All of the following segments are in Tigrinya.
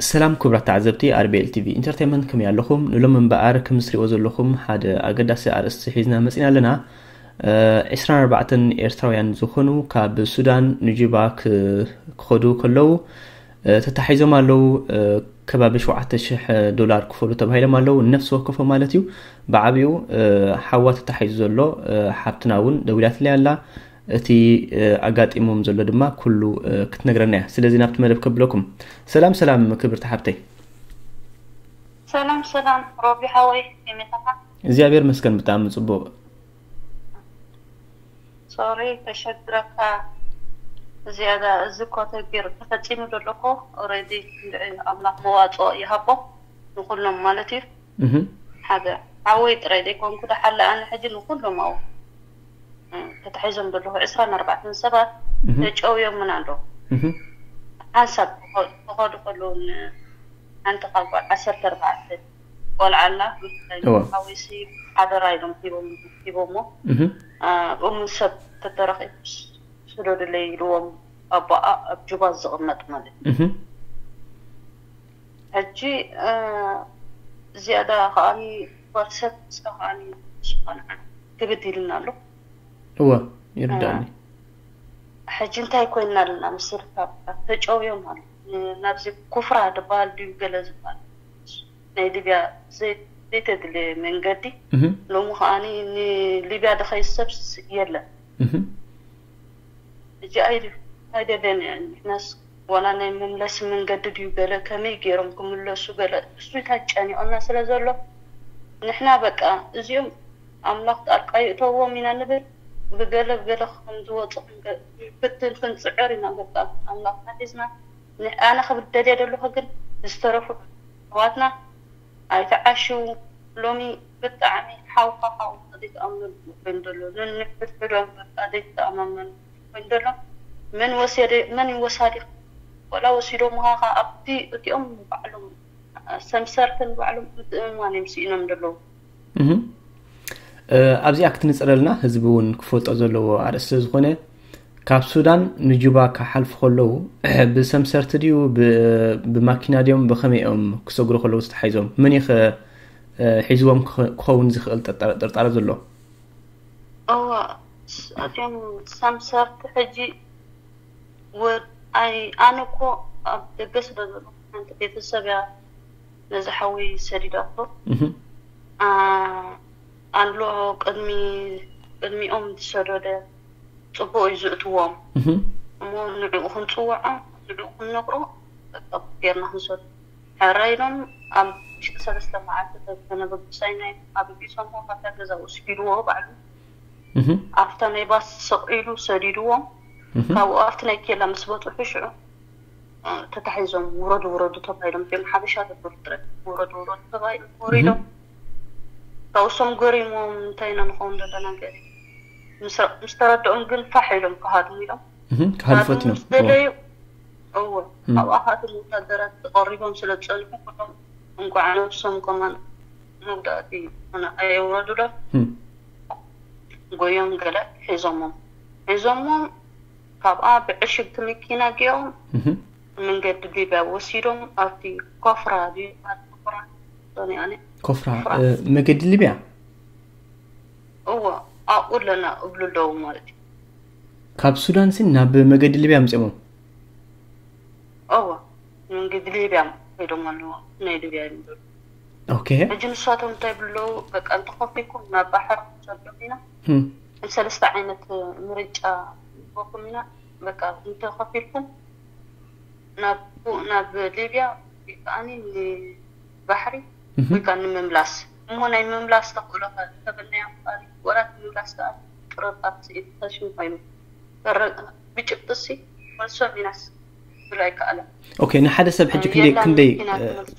ሰላም ክቡራት ተዓዘብቲ ኣርቤኤል ቲቪ ኢንተርቴንመንት፣ ከመይ ኣለኹም? ንሎም እምበኣር ከም ዝሪእዎ ዘለኹም ሓደ ኣገዳሲ ኣርእስቲ ሒዝና መፂና ኣለና። ዒስራን ኣርባዕተን ኤርትራውያን ዝኾኑ ካብ ሱዳን ንጁባ ክኸዱ ከለዉ ተታሒዞም ኣለዉ። ከባቢ ሸውዓተ ሽሕ ዶላር ክፈሉ ተባሂሎም ኣለዉ፣ ነፍሲ ወከፎም ማለት እዩ። ብዓብኡ ሓዋ ተታሒዙ ዘሎ ሓብትና እውን ደዊላትለይ ኣላ። እቲ ኣጋጢሞም ዘሎ ድማ ኩሉ ክትነግረና እያ። ስለዚ ናብቲ መደብ ከብለኩም። ሰላም ሰላም ክብርቲ ሓብተይ። ሰላም ሰላም ሮቢ ሓወይ፣ ከመይ ኣለኻ? እግዚኣብሔር መስገን ብጣዕሚ ጽቡቕ። ሶሪ ተሸግረካ ዝያዳ። እዚ እኮ ተግቢር ተፈጺሙ ዘሎ እኮ ኦሬዲ። ኣምላኽ መዋጽኦ ይሃቦ ንኹሎም ማለት እዩ። ሓደ ሓወይ ጥራይ ዘይኮንኩ ደሓለ ኣነ ሕጂ ንኹሎም ኣው ተታሒዞም ዘለኹ ዕስራን ኣርባዕተን ሰባት ተጨውዮምን ኣለዉ። ሓንሳብ ክኸዱ ከለዉ ሓንቲ ካብ ጓል ዓሰርተ ኣርባዕተ ቆልዓ ኣላ። ሓወይሲ ሓደራ ኢሎም ሂቦሞ። እሙ ሰብ ተተረኺቡ ስደዱለይ ኢልዎም ኣቦኣ ኣብ ጁባ ዝቕመጥ ማለት እዩ። ሕጂ ዝያዳ ከዓኒ ጓል ሰብ ንሳ ከዓኒ ዝኾነ ክብድ ኢልና ኣሎ። እወ ይርዳእኒ። ሕጂ እንታይ ኮይና ኣለና መሰልካ? ተጨውዮም ኣሎ ናብዚ ኩፍራ ዝበሃል ድዩ ገለ ዝበሃል ናይ ሊብያ ዘይተድልየ መንገዲ። ሎሚ ከዓኒ ንሊብያ ድኸይድ ሰብ የለን። ሕጂ ኣይደለና ንሕናስ ዋላ ናይ መምለሲ መንገዲ ድዩ ገለ ከመይ ገይሮም ክምለሱ ገለ እሱ እንታይ ጨኒቆና ስለ ዘሎ ንሕና በቃ እዚኦም ኣምላኽ ጣልቃ ይእተዎም ኢና ንብል። ብገለ ብገለ ከም ዝወፁ ክንፍትን ክንፅዕር ኢና። በቃ ኣምላኽና ሒዝና ኣነ ክብደልየ ዘለኹ ግን ዝተረፉ ኣሕዋትና ኣይተዓሽው። ሎሚ ብጣዕሚ ሓውካ ሓው ዘይተኣምነሉ ኮይኑ ዘሎ ነንሕድሕዶም በቃ ዘይተኣማመኑ ኮይኑ ዘሎ መን ወሰደ መን ይወሳዲ ወላ ወሲዶ ምሃኻ ኣብቲ እቲኦም ባዕሎም ሰምሰርትን ባዕሎም ምትእምማን እዮም ስኢኖም ዘለዉ። ኣብዚኣ ክትንፅረልና ህዝቢ እውን ክፈልጦ ዘለዎ ኣርእስቲ ዝኾነ ካብ ሱዳን ንጁባ ክሓልፉ ከለዉ ብሰምሰርቲ ድዩ ብማኪና ድዮም ብኸመይ እዮም ክሰግሩ ከለዉ ዝተሓይዞም? መን እዩ ሒዝዎም ክኸውን ዝኽእል ጥርጣረ ዘሎ? እዋ እዚኦም ሰምሰርቲ ሕጂ ኣይ ኣነ እኮ ኣብ ደገ ስለ ዘለኹ ሓንቲ ቤተሰብ እያ ነዚ ሓወይ ሰዲዳቶ። ኣሎ ቅድሚ ቅድሚኦም ዝሰደደ ፅቡቅ እዩ ዝእትዎም እሞ ንዕኡ ክንፅውዖ ንዕኡ ክንነግሮ ጌርና ክንሰዱ ሕራይ ኢሎም ኣብ ውሽጢ ሰለስተ መዓልቲ ተነበብሳይ ናይ ኣብ ቢሶም ካብታ ገዛ ወስዲድዎ ባዕሉ ኣብታ ናይ ባስ ስቕ ኢሉ ሰዲድዎም። ካብኡ ኣብቲ ናይ ኬላ ምስ በፅሑ ሽዑ ተታሒዞም ውረዱ ውረዱ ተባሂሎም እዚኦም ሓበሻ ተብሉ ጥረ ውረዱ ውረዱ ተባሂሎም ወሪዶም። ካብሶም ገሪሞም እንታይ ኢና ንኸውን ዘለና ገለ ምስ ተረድኦም ግን ፋሕ ኢሎም ክሃድሙ ኢሎም ክሃድፎት ኢሎም ምስ ደለዩ እወ ኣብኣ ከኣቶም ወታደራት ተቐሪቦም ስለ ዝፀንሑ ኩሎም እንኳዕ ነብሶም ከማን መጉዳእቲ ኮነ ኣየውረዱሎም። ጎዮም ገለ ሒዞሞም ሒዞሞም ካብኣ ብዕሽግቲ መኪና ገይሮም መንገዲ ሊብያ ወሲዶም ኣብቲ ኮፍራ ድዩ ኮፍራ ሶኒያኒ ኮፍራ መገዲ ሊብያ እዎ ኣብኡ ኣለና እብሉ ኣለዉ ማለት እዩ። ካብ ሱዳን ሲ ናብ መገዲ ሊብያ ኣምፅኦሞ? እዎ መንገዲ ሊብያ ከይዶም ኣለዎ ናይ ሊብያ ይምበሉ። ኦኬ ሕጂ ንሳቶም እንታይ ይብሉ ኣለዉ በቃ እንተኸፊልኩም ናብ ባሕሪ ክንሰዶም ኢና ሰለስተ ዓይነት ምርጫ ንህበኩም ኢና በቃ እንተኸፊልኩም ናብ ናብ ሊብያ ወይ ከዓኒ ንባሕሪ ወይ ከዓ ንምምላስ እሞ ናይ ምምላስ ተኽእሎ ተበልናዮ ምባል ወላ እቲ ምምላስ ከዓ ጥርጣር ስኢት ተሽም ኮይኑ ብጭብጥሲ መልሶም ኢናስ ዝብሎ ኣይከኣለን። ኦኬ ንሓደ ሰብ ሕጂ ክንደይ ክንደይ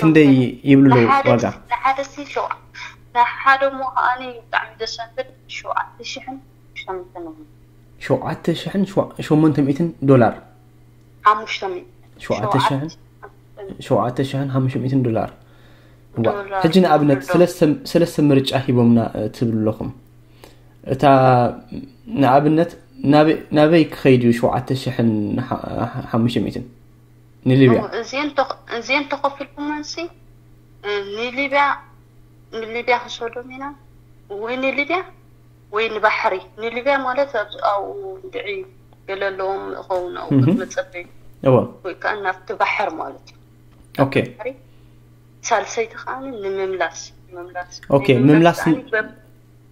ክንደይ ይብሉ ኣለዉ ዋጋ? ንሓደ ሲ ንሓደ እሞ ከዓኒ ብጣዕሚ ዘሰንብድ ሸውዓተ ሽሕን ሸሞንተን ሸውዓተ ሽሕን ሸሞንተ ሚእትን ዶላር ሓሙሽተ ሚእትን ሸውዓተ ሽሕን ሸውዓተ ሽሕን ሓሙሽተ ሚእትን ዶላር። ሕጂ ንኣብነት ሰለስተ ምርጫ ሂቦምና ትብሉ ኣለኹም። እታ ንኣብነት ናበይ ክኸይድ እዩ ሸውዓተ ሽሕን ሓሙሽተ ሚእትን? ንሊብያ እዚን ተኸፊልኩመንሲ ንሊብያ ንሊብያ ክሰዶም ኢና ወይ ንሊብያ ወይ ንባሕሪ። ንሊብያ ማለት ኣብኡ ድዒ ገለ ኣለዎም እኸውን ኣብኡ መፀበይ እዎ ወይ ከዓ ናብቲ ባሕር ማለት እዩ። ኦኬ ሳልሰይቲ ከዓ ንምምላስ ንምምላስ ኦኬ፣ ምምላስ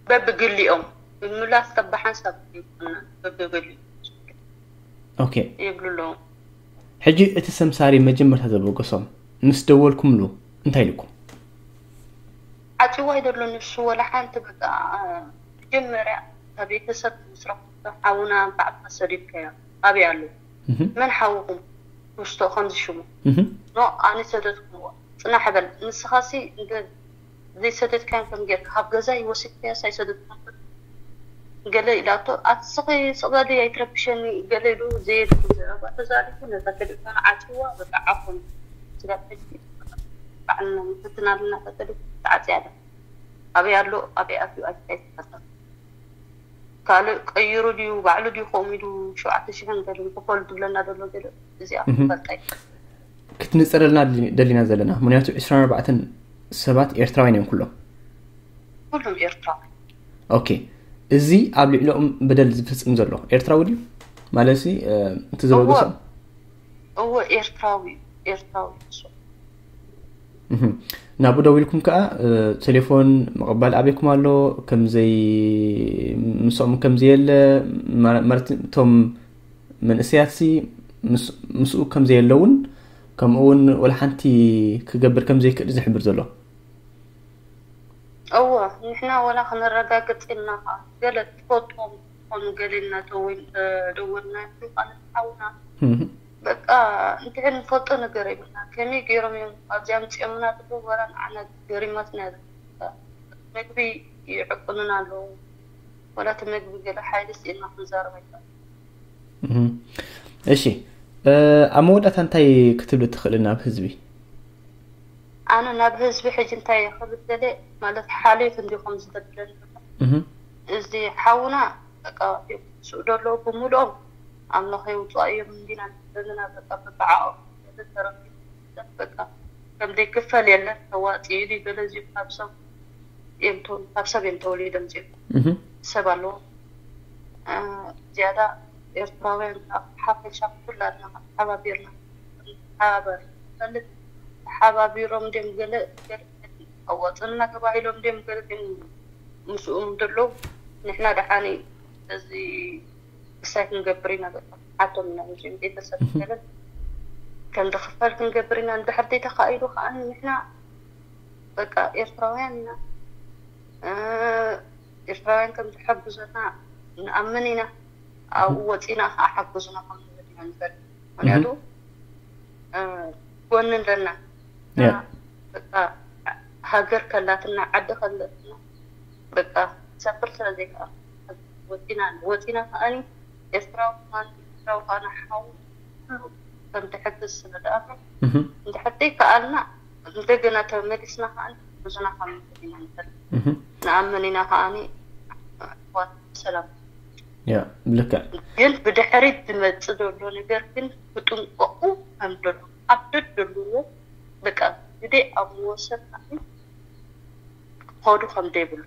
በብግሊኦም ምምላስ ተባሓንሳብ ይኮና በብግሊኦም ኦኬ ይብሉ ኣለዉ። ሕጂ እቲ ሰምሳሪ መጀመርታ ዘበገሶም ምስ ደወልኩምሉ እንታይ ኢልኩም? ዓፂዋ ይደሎ ንሱ ወላ ሓንቲ በቃ መጀመርያ ካብ ቤተሰብ ምስረኹ ሓውና በዓልካ ሰዲድካዮ ኣበይ ኣሎ? መን ሓውኹም ውስቶ ከምዚ ሽሙ ኖ ኣነ ሰደድኩምዎ። ፅናሕ በል ንስኻሲ ዘይሰደድካዮም ከም ጌርካ ካብ ገዛይ ወሲድካዮስ ኣይሰደድካዮን ገለ ኢላቶ ኣስኺ ስቕ በሊ ኣይትረብሸኒ ገለ ኢሉ ዘየድሊ ዘረባ ተዛሪቡ ነታ ተሌፎን ዓጽይዋ በቃ ዓፎን ስጋብ ሕጂ ባዕልና ንፍትና ኣለና እታ ተሌፎን ተዓጽያ ኣላ ኣበይ ኣሎ ኣበይ ኣትዩ ኣይትፈልጥን ካልእ ቀይሩ ድዩ ባዕሉ ድዩ ከምኡ ኢሉ ሸውዓተ ሽሕን ገለን ክፈሉ ዝብለና ዘሎ ገለ እዚኣ ክፈልጣ ክትንፀረልና ደሊና ዘለና ምክንያቱ ዕስራን ኣርባዕተን ሰባት ኤርትራውያን እዮም ኩሎም ኩሎም ኤርትራዊ ኦኬ እዚ ኣብ ልዕሊኦም በደል ዝፍፅም ዘሎ ኤርትራዊ ድዩ ማለት እቲ ዘበገሶም እወ ኤርትራዊ ኤርትራዊ ንሱ ናብኡ ደዊልኩም ከዓ ቴሌፎን ምቕባል ኣበይኩም ኣሎ ከምዘይ ምስኦም ከምዘየለ ማለት እቶም መንእሰያትሲ ምስኡ ከምዘየለውን ከምኡ እውን ወላ ሓንቲ ክገብር ከምዘይክእል ዝሕብር ዘሎ እወ ንሕና ወላ ክነረጋግፅ ኢልና ከዓ ገለ ትፈልጦም ዝኾኑ ገለ ኢልና ደወልና ይብሉ ቃለ ሓውና በቃ እንድሕር ንፈልጦ ነገር የብልና ከመይ ገይሮም እዮም ኣብዚ ኣምፅኦምና ትብሉ ወላ ንዓና ገሪማትና እያ መግቢ ይዕቁኑና ኣለዉ ወላ እቲ መግቢ ገለ ሓይሊ ስኢልና ክንዛረብ ኣይከኣል እሺ ኣብ መወዳእታ እንታይ ክትብል ትኽእል ናብ ህዝቢ ኣነ ናብ ህዝቢ ሕጂ እንታይ ክብል ደለ ማለት ሓልዮት እንዲኹም ዝደብለኒ እዚ ሓውና በቃ ስኡ ደለዉ ብምልኦም ኣምላኽ የውፅኣ እዮም እንዲና ዘለና በቃ ብብዓኦም ተረፊ በቃ ከም ዘይክፈል የለን ተዋፂኡ ኢሉ ገለ እዚኦም ካብ ሰብ እዮም ካብ ሰብ እዮም ተወሊዶም እዚኦም ሰብ ኣለዎ ዝያዳ ኤርትራውያን ሓፈሻ ኩላትና ተሓባቢርና ተሓባበር ፈልጥ ተሓባቢሮም ድም ገለ ኣዋፅንና ተባሂሎም ድም ገለ ግን ምስኡም ደሎ ንሕና ደሓኒ እዚ ክሳይ ክንገብር ኢና በቃ ሓቶም ኢና ንዚም ቤተሰብ ገለ ከም ዝኽፈል ክንገብር ኢና እንድሕር ዘይተኻኢሉ ከዓ ንሕና በቃ ኤርትራውያን ኢና ኤርትራውያን ከም ዝሐግዙና ንኣምን ኢና ኣብኡ ወፂና ከዓ ሓግዙና ከም ንብል ኢና ንፈል ምክንያቱ ጎኒ ኣለና በቃ ሃገር ከላትና ዓዲ ከለትና በቃ ሰፍር ስለ ዘይከኣል ወፂና ወፂና ከዓኒ ኤርትራዊ ከማን ኤርትራዊ ከዓኒ ሓው ኩሉ ከም ትሕግዝ ስለ ደኣምር እንድሕር ዘይከኣልና እንደገና ተመሊስና ከዓኒ ብዙና ከም ንኽእል ኢና ንፈል ንኣምን ኢና ከዓኒ ኣሕዋት ሰላም ያ ብልክዕ ግን ብድሕሪት ዝመፅእ ዘሎ ነገር ግን ክጥንቀቁ ከም ዘሎ ኣብ ደደልዎ በቃ ግደ ኣብ መወሰን ክኸዱ ከም ዘይብሉ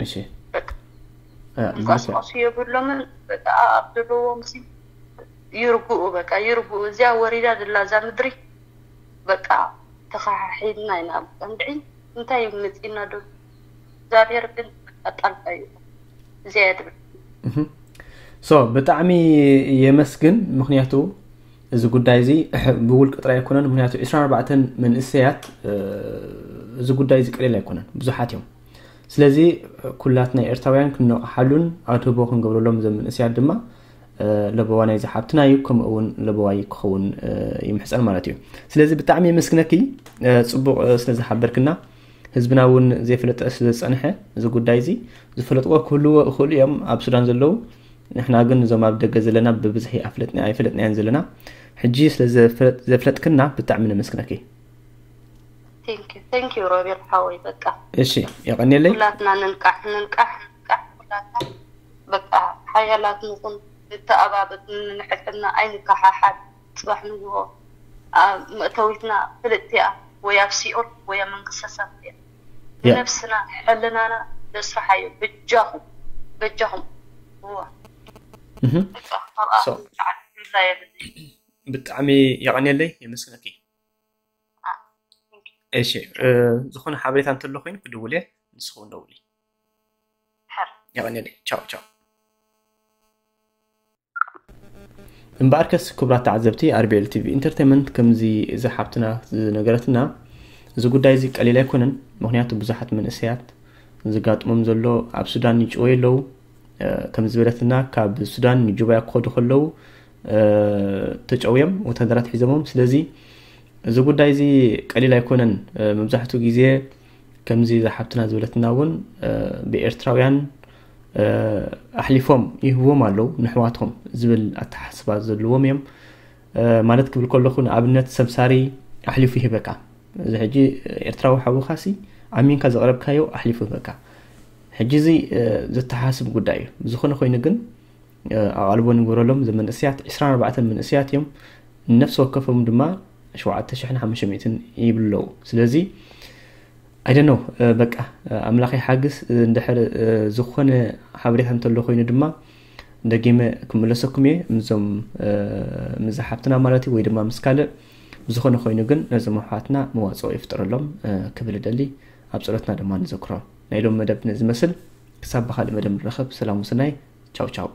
እሺ ምንቀስቀሱ የብሎምን በቃ ኣብ ዘለዎም ይርግኡ በቃ ይርግኡ እዚኣ ወሪዳ ዘላ እዛ ምድሪ በቃ ተኸሓሒልና ኢና ቀንድዒ እንታይ እዩ መፂና ዶ እግዚኣብሔር ግን ጣልቃ እዩ እዚኣ እያ ትብል ሶ ብጣዕሚ የመስግን ምክንያቱ እዚ ጉዳይ እዚ ብውልቂ ጥራይ ኣይኮነን ምክንያቱ 24 መንእሰያት እዚ ጉዳይ እዚ ቀሊል ኣይኮነን ብዙሓት እዮም ስለዚ ኩላትና ኤርትራውያን ክንነቕሓሉን ኣድህቦ ክንገብረሎም ዘም መንእሰያት ድማ ለበዋ ናይዚ ሓብትና እዩ ከምኡ እውን ለበዋይ ክኸውን ይምሕፀን ማለት እዩ ስለዚ ብጣዕሚ የመስግነኪ ፅቡቕ ስለ ዝሓበርክና ህዝብና እውን ዘይፈለጠ ስለ ዝፀንሐ እዚ ጉዳይ እዚ ዝፈለጥዎ ክህልዎ ይኽእሉ እዮም ኣብ ሱዳን ዘለዉ ንሕና ግን እዞም ኣብ ደገ ዘለና ብብዝሒ ኣይፈለጥናያን ዘለና ሕጂ ስለ ዘፍለጥክና ብጣዕሚ ነመስግነኪ ቴንኪዩ ሮቤል ሓወይ በቃ እሺ የቐንየለይ ኩላትና ንንቃሕ ንንቃሕ ንንቃሕ ኩላትና በቃ ሓያላት ንኹን ንተኣባበት ንንሕልና ኣይንከሓሓል ፅባሕ ንግሆ ኣብ መእተዊትና ፍልጥቲ እያ፣ ወይ ኣብ ሲኦል ወይ ኣብ መንግስተ ሰማይ እያ። ንነብስና ሕልናና ነስርሓዮ። በጃኹም በጃኹም እዋ ብጣዕሚ የቐንየለይ፣ የመስግነኪ። እሺ፣ ዝኾነ ሓበሬታ እንተሎ ኮይኑ ክድውል እየ፣ ንስኹም ደውሊ። የቐንየለይ። ቻው ቻው። እምበኣርከስ ክቡራት ተዓዘብቲ፣ ኣርቢኤል ቲቪ ኢንተርቴንመንት ከምዚ እዛ ሓብትና ዝነገረትና፣ እዚ ጉዳይ እዚ ቀሊል ኣይኮነን። ምክንያቱ ብዙሓት መንእሰያት ዝጋጥሞም ዘሎ ኣብ ሱዳን ይጭወዩ ኣለዉ። ከም ዝበለትና ካብ ሱዳን ንጁባያ ክኸዱ ከለዉ ተጨውዮም ወታደራት ሒዞሞም። ስለዚ እዚ ጉዳይ እዚ ቀሊል ኣይኮነን። መብዛሕትኡ ግዜ ከምዚ ዝሓብትና ዝበለትና እውን ብኤርትራውያን ኣሕሊፎም ይህብዎም ኣለዉ ንሕዋቶም ዝብል ኣተሓስባ ዘለዎም እዮም። ማለት ክብል ከለኹ ንኣብነት ሰምሳሪ ኣሕሊፉ ይህበካ። እዚ ሕጂ ኤርትራዊ ሓውኻሲ ኣሚንካ ዘቕረብካዮ ኣሕሊፉ ይህበካ። ሕጂ እዚ ዘተሓስብ ጉዳይ እዩ። ብዝኾነ ኮይኑ ግን ኣቓልቦ ንግበረሎም። እዞም መንእሰያት ዕስራን ኣርባዕተን መንእሰያት እዮም። ነፍሲ ወከፎም ድማ ሸውዓተ ሽሕን ሓሙሽተ ሚእትን ይብሉ ኣለዉ። ስለዚ ኣይደኖ በቃ ኣምላኽ ይሓግዝ። እንድሕር ዝኾነ ሓበሬታ እንተሎ ኮይኑ ድማ ደጊመ ክምለሰኩም እየ። ምዞም ምዛ ሓብትና ማለት እዩ ወይ ድማ ምስ ካልእ ብዝኾነ ኮይኑ ግን ነዞም ኣሕዋትና መዋፅኦ ይፍጠረሎም ክብል እደሊ። ኣብ ፀሎትና ድማ ንዘክሮም። ናይ ሎም መደብ ነዚ መስል። ክሳብ ብካልእ መደብ ንረኸብ። ሰላም ውስናይ። ቻው ቻው።